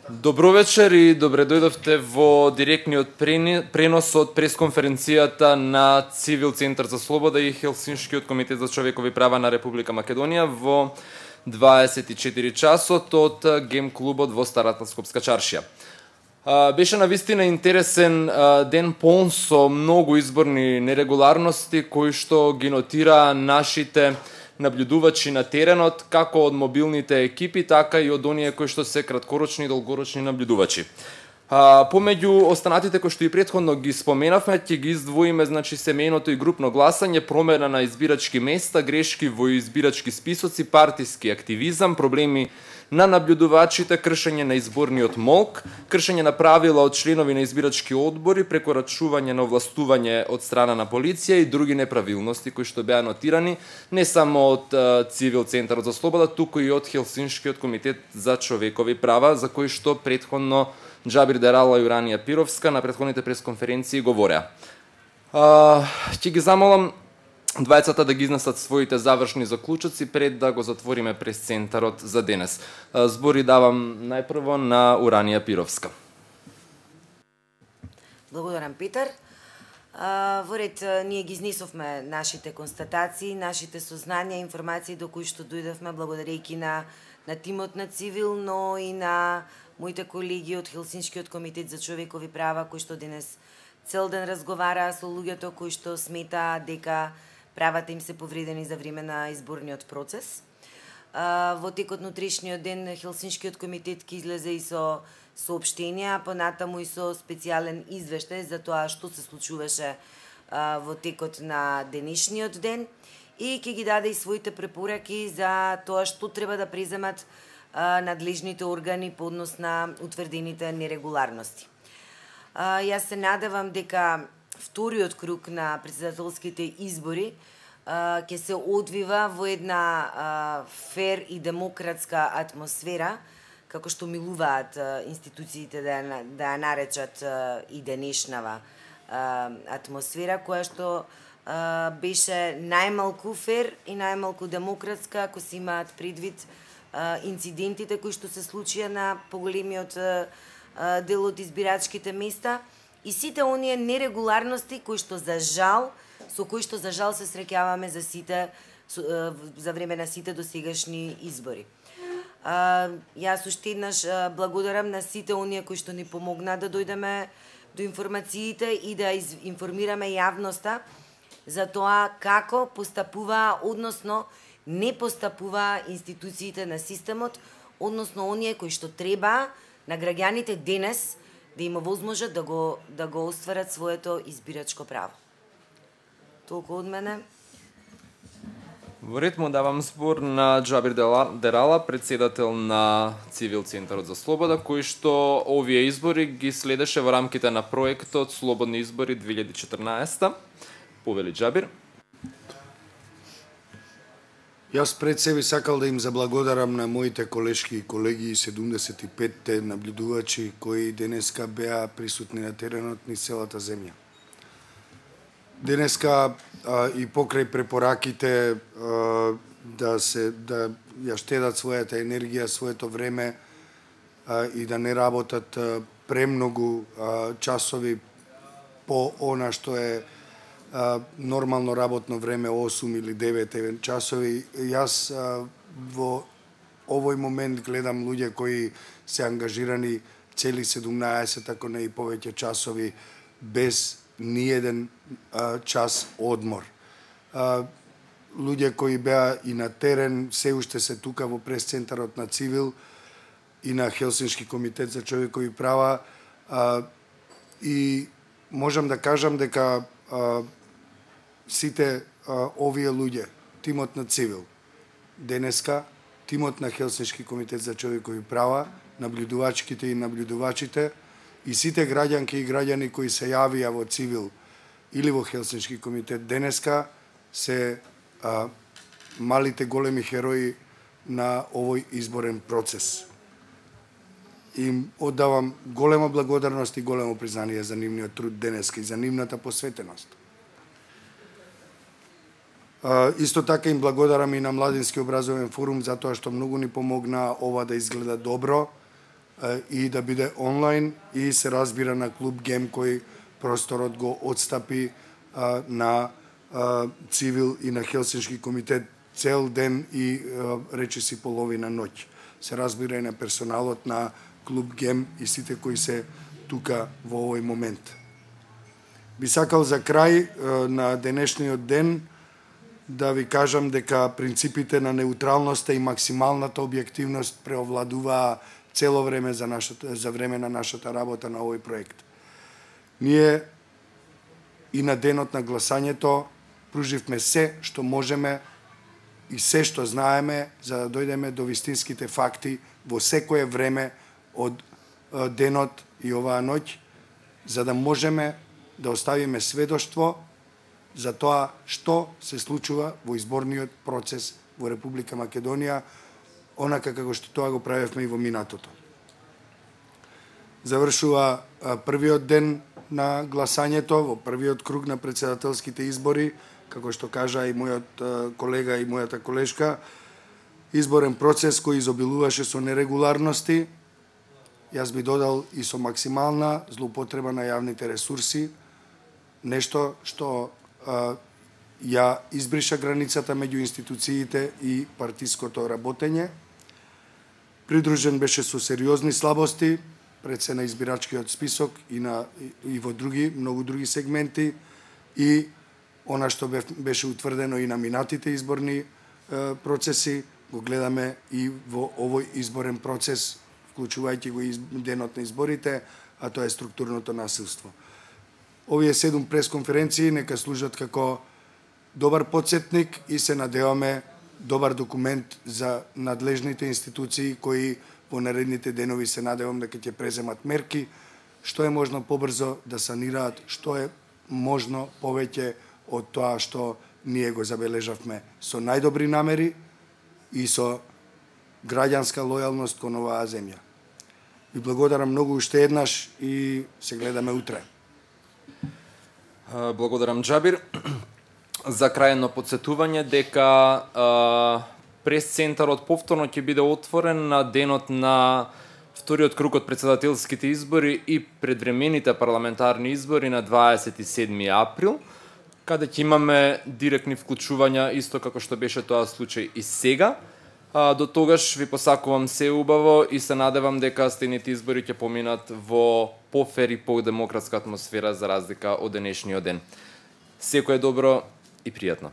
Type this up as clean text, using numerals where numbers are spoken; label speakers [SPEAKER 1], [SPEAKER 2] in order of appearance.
[SPEAKER 1] Добро вечер и добре дојдовте во директниот пренос од пресконференцијата на Цивил Центар за слобода и Хелсиншкиот комитет за човекови права на Република Македонија во 24 часот од Гем клубот во Старата Скопска чаршија. Беше навистина интересен ден, полн со многу изборни нерегуларности кои што ги нотира нашите наблюдувачи на теренот, како од мобилните екипи, така и од оние кои што се краткорочни и долгорочни наблюдувачи. Помеѓу останатите кои што и претходно ги споменавме, ќе ги издвоиме, значи, семејното и групно гласање, промена на избирачки места, грешки во избирачки списоци, партиски активизам, проблеми на наблюдувачите, кршење на изборниот молк, кршење на правила од членови на избирачки одбори, прекорачување на овластување од страна на полиција и други неправилности кои што беа нотирани не само од Цивил Центарот за слобода, туку и од Хелсиншкиот комитет за човекови права, за кои што претходно Джабир Дерала и Уранија Пировска на претходните пресконференции говореа. Ќе ги замолам двајцата да ги изнесат своите завршни заклучоци пред да го затвориме пресцентарот за денес. Збори давам најпрво на Уранија Пировска.
[SPEAKER 2] Благодарам, Питер. Во ред, ние ги изнесовме нашите констатации, нашите сознанија, информации до кои што дојдовме благодарејќи на тимот на Цивил, но и на моите колеги од Хелсиншкиот комитет за човекови права, кои што денес цел ден разговараа со луѓето кои што сметаа дека правата им се повредени за време на изборниот процес. Во текот на утрешниот ден Хелсиншкиот комитет ќе излезе и со соопштенија, понатаму и со специјален извештај за тоа што се случуваше во текот на денешниот ден и ќе ги даде и своите препораки за тоа што треба да преземат надлежните органи по однос на утврдените нерегуларности. Јас се надевам дека вториот круг на претседателските избори ќе се одвива во една фер и демократска атмосфера, како што милуваат институциите да ја наречат и денешнава атмосфера, која што беше најмалку фер и најмалку демократска, ако се имаат предвид инцидентите кои што се случија на поголемиот дел од избирачките места и сите оние нерегуларности со кои што за жал се среќаваме за време на сите досегашни избори. Јас уште еднаш благодарам на сите оние кои што ни помогнаа да дојдеме до информациите и да информираме јавноста за тоа како постапуваа, односно не постапуваа институциите на системот, односно оние кои што треба на граѓаните денес да им овозможат да го остварат своето избирачко право. Толку од мене.
[SPEAKER 1] Во ред му давам збор на Джабир Дерала, председател на Цивил Центарот за слобода, кој што овие избори ги следеше во рамките на проектот Слободни избори 2014. Повели Джабир.
[SPEAKER 3] Јас пред себе сакал да им заблагодарам на моите колешки и колеги и 75-те наблюдувачи кои денеска беа присутни на теренот низ целата земја. Денеска и покрај препораките да ја штедат својата енергија, своето време и да не работат премногу часови по она што е нормално работно време 8 или 9 часови. Јас во овој момент гледам луѓе кои се ангажирани цели 17, ако не и повеќе часови без ниеден час одмор. Луѓе кои беа и на терен, се уште се тука во пресцентарот на Цивил и на Хелсиншки комитет за човекови права и можам да кажам дека сите овие луѓе, тимот на Цивил, денеска, тимот на Хелсиншки комитет за човекови права, наблюдувачките и наблюдувачите и сите граѓанки и граѓани кои се јавија во Цивил или во Хелсиншки комитет денеска се малите големи херои на овој изборен процес. Им оддавам голема благодарност и големо признание за нивниот труд денеска и за нивната посветеност. Исто така им благодарам и на Младински образовен форум за тоа што многу ни помогна ова да изгледа добро и да биде онлайн и се разбира на клуб Гем кој просторот го отстапи на Цивил и на Хелсиншки комитет цел ден и речиси половина ноќ. Се разбира и на персоналот на клуб Гем и сите кои се тука во овој момент. Би сакал за крај на денешниот ден да ви кажам дека принципите на неутралноста и максималната објективност преовладуваа цело време за време на нашата работа на овој проект. Ние и на денот на гласањето пруживме се што можеме и се што знаеме за да дојдеме до вистинските факти во секое време од денот и оваа ноќ, за да можеме да оставиме сведоштво за тоа што се случува во изборниот процес во Република Македонија, онака како што тоа го правевме и во минатото. Завршува првиот ден на гласањето, во првиот круг на претседателските избори, како што кажа и мојот колега и мојата колешка, изборен процес кој изобилуваше со нерегуларности, јас би додал и со максимална злоупотреба на јавните ресурси, нешто што ја избриша границата меѓу институциите и партиското работење. Придружен беше со сериозни слабости, пред се на избирачкиот список и во многу други сегменти, и она што беше утврдено и на минатите изборни процеси, го гледаме и во овој изборен процес, вклучувајќи го и денот на изборите, а тоа е структурното насилство. Овие 7 пресконференции нека служат како добар потсетник и се надеваме добар документ за надлежните институции кои во наредните денови се надевам дека ќе преземат мерки, што е можно побрзо да санираат, што е можно повеќе од тоа што ние го забележавме со најдобри намери и со граѓанска лојалност кон оваа земја. Ви благодарам многу уште еднаш и се гледаме утре.
[SPEAKER 1] Благодарам, Џабир. За крајно подсетување дека прес-центарот повторно ќе биде отворен на денот на вториот круг од претседателските избори и предвремените парламентарни избори на 27 април, каде ќе имаме директни вклучувања, исто како што беше тоа случај и сега. До тогаш ви посакувам се убаво и се надевам дека следните избори ќе поминат во пофер и по-демократска атмосфера за разлика од денешниот ден. Секое добро и пријатно.